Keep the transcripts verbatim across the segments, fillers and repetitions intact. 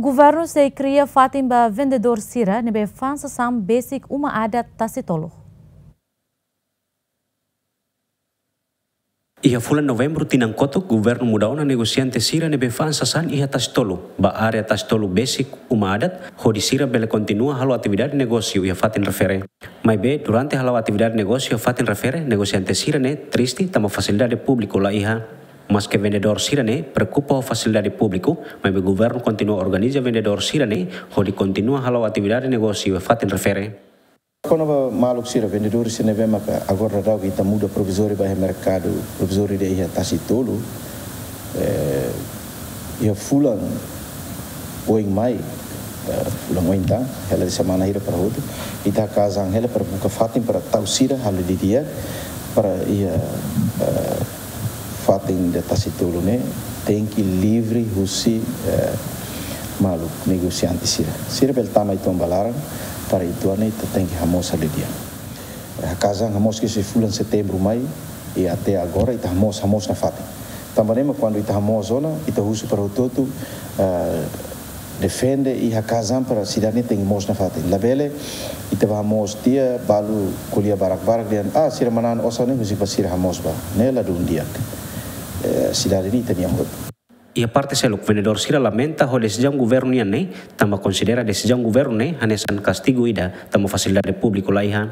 Governu sei kria fatin ba vendedór sira ne'ebé fa'an sasán besik uma adat Tasi Tolu. Iha fulan Novembru tinan kotuk, governu muda ona negosiante sira ne'ebé fa'an sasán iha Tasi Tolu ba área Tasi Tolu besik uma adat, hodi sira bele kontinua halo atividade negósiu iha fatin refere. Maibé, durante hala'o atividade negósiu iha fatin refere, negosiante sira-ne'e triste tanba fasilidade públiku la iha. Maske vendedór sira-ne'e preokupa ho fasilidade públiku, maibé governu kontinua organiza vendedór sira-ne'e hodi kontinua hala'o atividade negósiu iha fatin refere. Kona-ba maluk sira, vendedór sira ne'ebé maka agora daudaun ita muda provizóriu ba iha merkadu provizóriu ida iha Tasi Tolu, eh, iha fulan oin mai, eh, fulan oin tan, hela de'it semana hira para hotu, ita haka'as an hela para buka fatin para tau sira halo di'ak para iha, eh, fatin ida Tasi Tolu ne'e tenke livre husi, eh, maluk negosiante sira. Sira bele tama uitoan ba laran, para uitoan ne'e ita tenke hamoos halo di'ak. Eh, haka'as an hamoos kedas fulan Setembru mai, i até agora ita hamoos, hamoos nafatin. Tanba ne'e mak kuandu ita hamoos ona, ita husu para hotu-hotu, eh, defende i haka'as an para sidade ne'e tenke moos nafatin. Labele ita bá hamoos tiha balu ko'alia barak-barak dehan, ah, sira manán osan ne'e husik ba sira hamoos bá. Ne'e ladún di'ak. Eh, sidade ne'e ita-nian hotu. Iha parte seluk, vendedór sira lamenta ho desizaun governu nian ne'e, tanba konsidera desizaun governu ne'e hanesan kastigu ida, tanba fasilidade públiku la iha.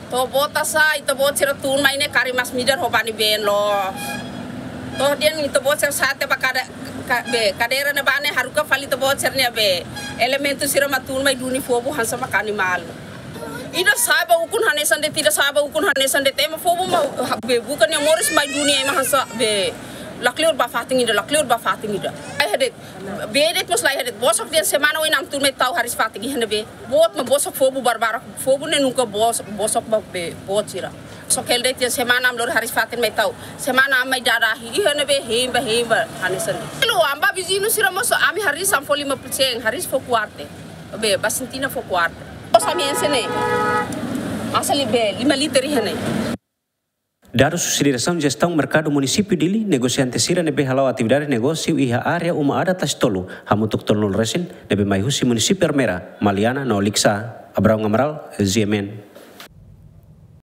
To'o boot sá, ita-boot sira tun mai ne'e karik masin-midar ho bani been loos. To'o dehan ita-boot sira sa'e tiha ba kada-, ka-, be, kadeira ne'ebá ne'e haruka fali ita-boot sira-nia be. Elementu sira mak tun mai duni fobu hanesan maka animál. Ida sa'e ba ukun hanesan de'it, ida sa'e ba ukun hanesan de'it, ema fobu mak, ha, be, buka nia moris mai duni ema hanesan be. La kleur ba fatin ida, la kleur ba fatin ida. Ai hadet. Be de'it mós la iha de'it. Bosok dehan semana oin ami tun mai tau hariis fatin iha ne'ebé. Boot mak bosok fobu barbarak. Fobu ne'e nunka bos-, bosok ba be boot sira. Só ke de'it dehan semana ami lori hariis fatin mai tau. Semana ami mai dada ahi. Iha ne'ebé hein ba, hein ba. Hanesan. Lo amba viziñu sira mós ami hariis ami fó lima puluh sen. Hariis fó kuarta. Be, ba sintina fó kuarta. Bos ami ense ne'e. Asal be, lima liter iha ne'e. Dadus husi Diresaun Jestaun Merkadu Munisípiu Dili, negosiante sira ne'ebé hala'o atividade negósiu iha área uma adat Tasi Tolu, hamutuk tolunulu resin, ne'ebé mai husi munisípiu Ermera, Maliana no Likisá. Abraão Amaral, G M N.